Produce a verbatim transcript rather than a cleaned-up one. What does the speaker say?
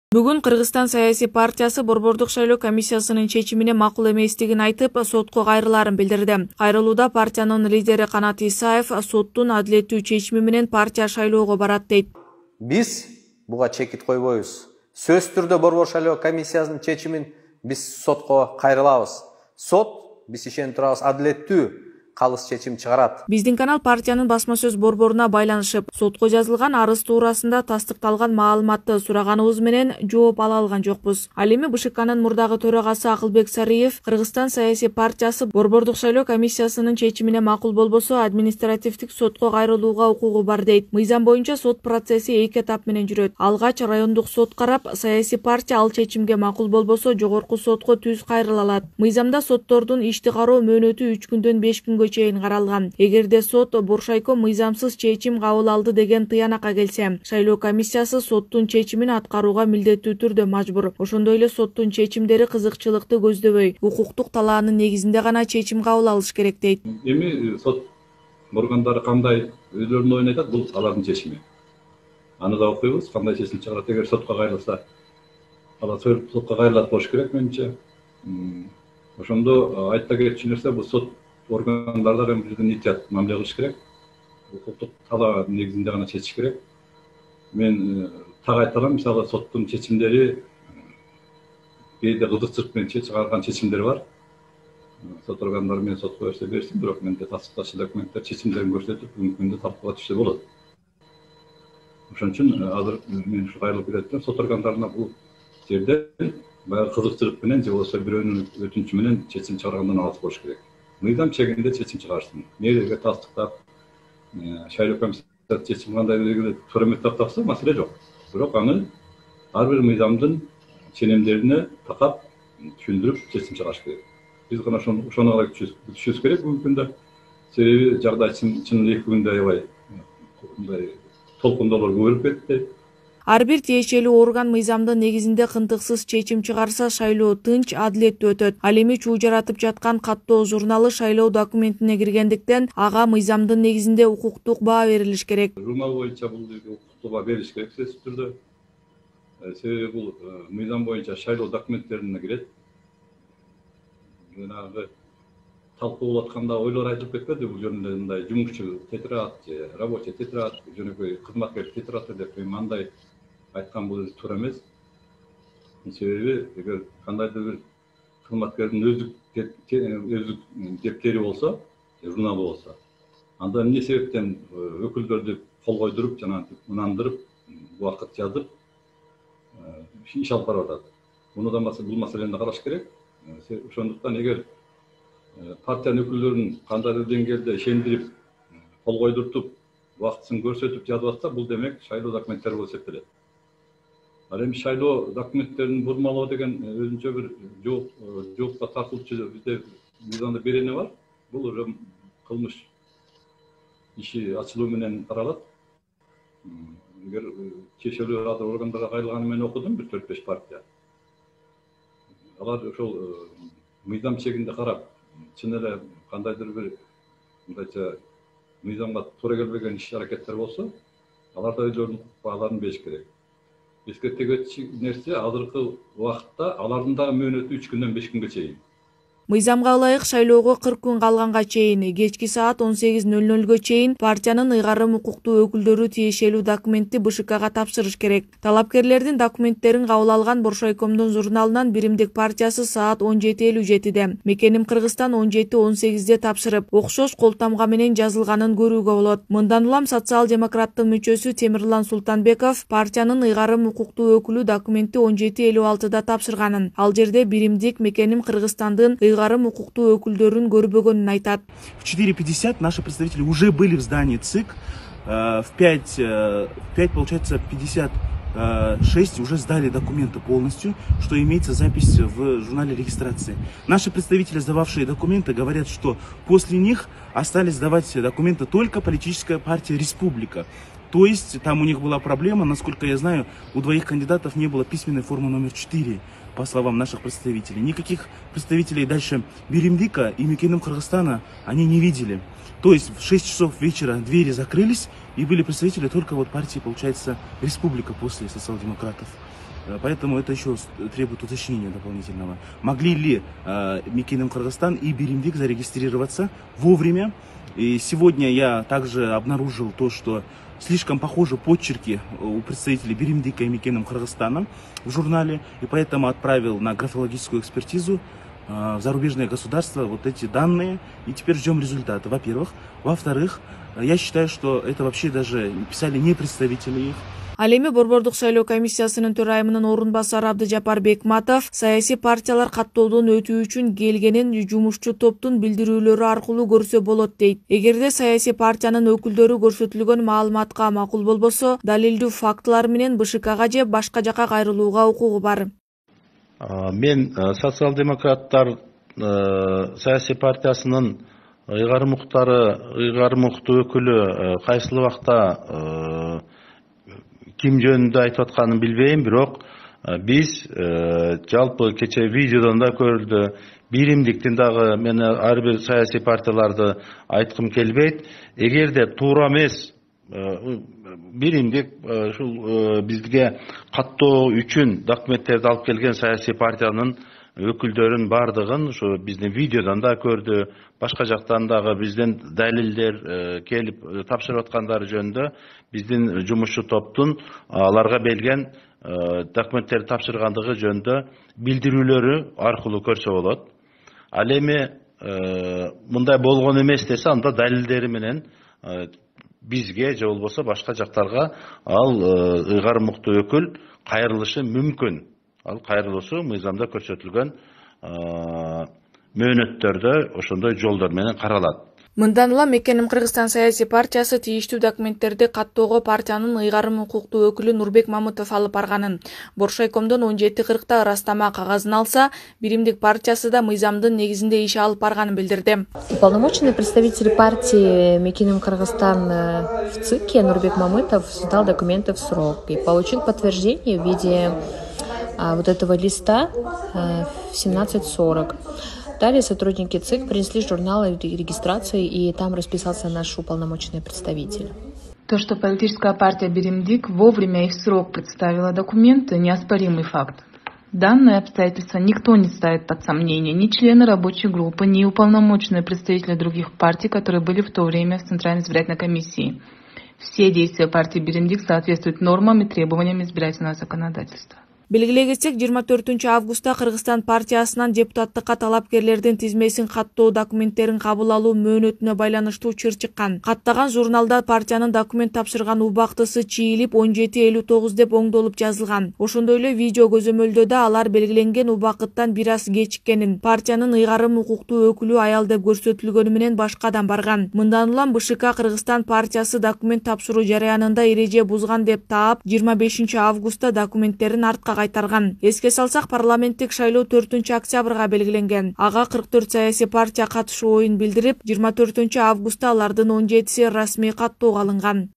Бүгүн Кыргызстан саясий партиясы Борбордук шайлоо комиссиясынын чечимине макул эместигин айтып, сотко кайрылаарын билдирди. Кайрылууда партиянын лидери Канат Исаев соттун адилеттүү чечими менен партия шайлоого барат дейт. Биз буга чекит койбойбуз. Сөзсүз түрдө Борбор шайлоо комиссиясынын чечимин биз сотко кайрылабыз. Сот биз ишенип турабыз адилеттүү калыс чечим чыгарат. Биздин канал партиянын басма сөз борборуна байланышып, сотко жазылган арыз туурасында тастыкталган маалыматты сураганыбыз менен жооп ала алган жокпуз. Ал эми БШКнын мурдагы төрагасы Акылбек Сариев Кыргызстан саясий партиясы Борбордук шайлоо комиссиясынын чечимине макул болбосо административдик сотко кайрылууга укугу бар дейт. Мыйзам боюнча сот процесси эки этап менен жүрөт. Алгач райондук сот карап, саясий партия ал чечимге макул болбосо жогорку сотко түз кайрыла алат. Мыйзамда соттордун ишти кароо мөөнөтү үч күндөн беш күнгө чейин каралган. Эгерде сот Боршайко мыйзамсыз чечим кабыл алды деген тыянакка келсе, шайлоо комиссиясы соттун чечимин аткарууга милдеттүү түрдө мажбур. Ошондой эле соттун чечимдери кызыкчылыкты көздөбөй, укуктук талаанын негизинде гана чечим кабыл алыш керек дейт. Эми сот органдары кандай өздөрүнүн оюн айтат, бул алардын чечими. Аны да окуйбуз, кандай чечим чыгарат. Эгер сотко кайрылса, алар сотко кайрылат болуш керек менимче. Ошондо айта кетчү нерсе, бул сот органдарда биздин итият мамиле кылыш керек. Укуктук талаа негизинде гана чечиш керек. Мен так айта алам, мисалы соттун чечимдери кээде кызыкчылык менен чыгарган чечимдер бар. Сот органдары менен сотко берсе берсин, бирок менде тастыкталган документтер чечимдерин көрсөтүп, бүгүнкү күндө талкууга түшсө болот. Ошон үчүн азыр мен ушу кайрылып келатам, сот органдарына бул жерде баягы кызыкчылык менен же болбосо бирөөнүн өтүнүчү менен чечим чыгаргандан алыс болуш керек. Мыйзам чегинде чечим чыгарсын. Мэрияга тастыктап, шайлоо комиссиясы чечим кандай белгилеп туура эмес деп тапса маселе жок. Бирок аны ар бир мыйзамдын ченемдерине такап түшүндүрүп чечим чыгарыш керек. Биз гана ошону калай күтүшүбүз керек бүгүнкү күндө. Себеби жагдай чын эки күндө аябай мындай толкундоолор көбөйүп кетти. Ар бир тиешелүү орган мыйзамдын негизинде кынтыксыз чечим чыгарса, шайлоо тынч, адилеттүү өтөт. Ал эми чуу жаратып жаткан каттоо журналы шайлоо документине киргендиктен, ага мыйзамдын негизинде укуктук баа берилиш керек. Журнал боюнча бул укуктук баа берилиш керек сөзсүз түрдө. Себеби бул мыйзам боюнча шайлоо документтерине кирет. Жанагы талкуу болуп атканда ойлор айтылып кетпеди, бул жөнүндө мындай жумушчу тетират же рабочий тетират, жөнөкөй кызматкер тетираты деп мындай айткан бул туура эмес. Себеби эгер кандайдыр бир кызматкердин өздүк өздүк дептери болсо, журналы болсо, анда эмне себептен өкүлдөрдү кол койдуруп, жана ынандырып, убакыт жазып иш алып барып атат. Муну да бул маселени караш керек. Ошондуктан эгер партиянын өкүлдөрүн кандайдыр деңгээлде ишендирип, кол койдуртуп, убактысын көрсөтүп жазып атса, бул демек шайлоо документтери болуп эсептелет. Ал эми шайлоо документтерин бурмалоо деген өзүнчө бир жоопко тартылчу бизде мыйзамда берене бар. Бул уже кылмыш иши ачылуу менен каралат. Эгер чечилүү азыр органдарга кайрылганы менен окудум, бир төрт беш партия. Алар ошол мыйзам чегинде карап, чын эле кандайдыр бир мындайча мыйзамга туура келбеген иш аракеттер болсо, алар да өздөрүнүн укук бааларын бериш керек. Эскертиги нерсе азыркы убакытта алардын дагы мөөнөтү үч күндөн беш күнгө чейин. Мыйзамга ылайык шайлоого кырк күн калганга чейин, кечки саат он сегиз нөл нөлгө чейин партиянын ыйгарым укуктуу өкүлдөрү тиешелүү документти БШКга тапшырыш керек. Талапкерлердин документтерин кабыл алган Боршайкомдун журналынан Биримдик партиясы саат он жети элүү жетиде, Мекеним Кыргызстан он жети он сегизде тапшырып, окшош колтамга менен жазылганын көрүүгө болот. Мындан улам социал-демократтын мүчөсү Темирлан Султанбеков партиянын ыйгарым укуктуу өкүлү документти он жети элүү алтыда тапшырганын, ал жерде Биримдик Мекеним Кыргызстандын ыйгарым укуктуу өкүлдөрүн көрбөгөнүн айтат. В четыре пятьдесят наши представители уже были в здании ЦИК. В пять, в пять, получается, пятьдесят шесть уже сдали документы полностью, что имеется запись в журнале регистрации. Наши представители, сдававшие документы, говорят, что после них остались сдавать документы только политическая партия «Республика». То есть там у них была проблема, насколько я знаю, у двоих кандидатов не было письменной формы номер четыре, по словам наших представителей. Никаких представителей дальше Биримдика и Мекеним Кыргызстана они не видели. То есть в шесть часов вечера двери закрылись, и были представители только вот партии, получается, Республика после социал-демократов. Поэтому это еще требует уточнения дополнительного. Могли ли э, Мекеним Кыргызстан и Биримдик зарегистрироваться вовремя? И сегодня я также обнаружил то, что слишком похожи почерки у представителей Биримдика и Мекеним Кыргызстана в журнале, и поэтому отправил на графологическую экспертизу э, в зарубежное государство вот эти данные, и теперь ждем результаты, во-первых. Во-вторых, я считаю, что это вообще даже писали не представители их. Ал эми Борбордук шайлоо комиссиясынын төрайымынын орун басары Абдыжапар Бекматов саясий партиялар каттоодон өтүү үчүн келгенин жумушчу топтун билдирүүлөрү аркылуу көрсө болот дейт. Эгерде саясий партиянын өкүлдөрү көрсөтүлгөн маалыматка макул болбосо, далилдүү фактылар менен БШКга же башка жака кайрылууга укугу бар. Мен социал-демократтар саясий партиясынын ыйгарым муктары, ыйгарым мукту өкүлү кайсыл убакта ким жөнүндө айтып атканын билбейм, бирок биз жалпы кече видеодон да көрүлдү, Биримдиктин дагы мен ар бир саясий партияларды айткым келбейт. Эгерде туура эмес, Биримдик ушул бизге каттоо үчүн документтерди алып келген саясий партиянын өкүлдөрүн бардыгын ушу биздин видеодон да көрдү, башка жактан дагы биздин далилдер келип тапшырып аткандары жөнүндө биздин жумушчу топтун аларга берилген документтерди тапшыргандыгы жөнүндө билдирүүлөрү аркылуу көрсө болот. Ал эми мындай болгон эмес десе, анда далилдери менен бизге же болбосо башка жактарга ал ыйгарым муктуу өкүл кайрылышы мүмкүн. Ал кайрылуусу мыйзамда көрсөтүлгөн мөөнөттөрдө ошондой жолдор менен каралат. Мындан улам Мекеним Кыргызстан саясий партиясы тийиштүү документтерди каттоого партиянын ыйгарым укуктуу өкүлү Нурбек Мамытов алып барганын, Боршайкомдон он жети кыркта ырастама кагазын алса, Биримдик партиясы да мыйзамдын негизинде иш алып барганын билдирди. Уполномоченный представитель партии Мекеним Кыргызстан в ЦИКе Нурбек Мамытов сдал документы в срок и получил подтверждение в виде вот этого листа в семнадцать сорок. Далее сотрудники ЦИК принесли журналы регистрации, и там расписался наш уполномоченный представитель. То, что политическая партия Биримдик вовремя и в срок представила документы, неоспоримый факт. Данное обстоятельство никто не ставит под сомнение, ни члены рабочей группы, ни уполномоченные представители других партий, которые были в то время в Центральной избирательной комиссии. Все действия партии Биримдик соответствуют нормам и требованиям избирательного законодательства. Белгилей кетсек, жыйырма төртүнчү августта Кыргызстан партиясынан депутаттыкка талапкерлердин тизмесин каттоо документтерин кабыл алуу мөөнөтүнө байланыштуу чыр чыккан. Каттаган журналда партиянын документ тапшырган убактысы чийилип он жети элүү тогуз деп оңдолуп жазылган. Ошондой эле видео көзөмөлдө да алар белгиленген убакыттан бир аз кечиккенин, партиянын ыйгарым укуктуу өкүлү аял деп көрсөтүлгөнү менен башкадан барган. Мындан улам БШК Кыргызстан партиясы документ тапшыруу жараянында эреже бузган деп таап, жыйырма бешинчи августта документтерин артка кайтарган. Эске салсак, парламенттик шайлоо төртүнчү октябрга белгиленген. Ага кырк төрт саясий партия катышуу оюн билдирип, жыйырма төртүнчү августта алардын он жетиси расмий каттоого алынган.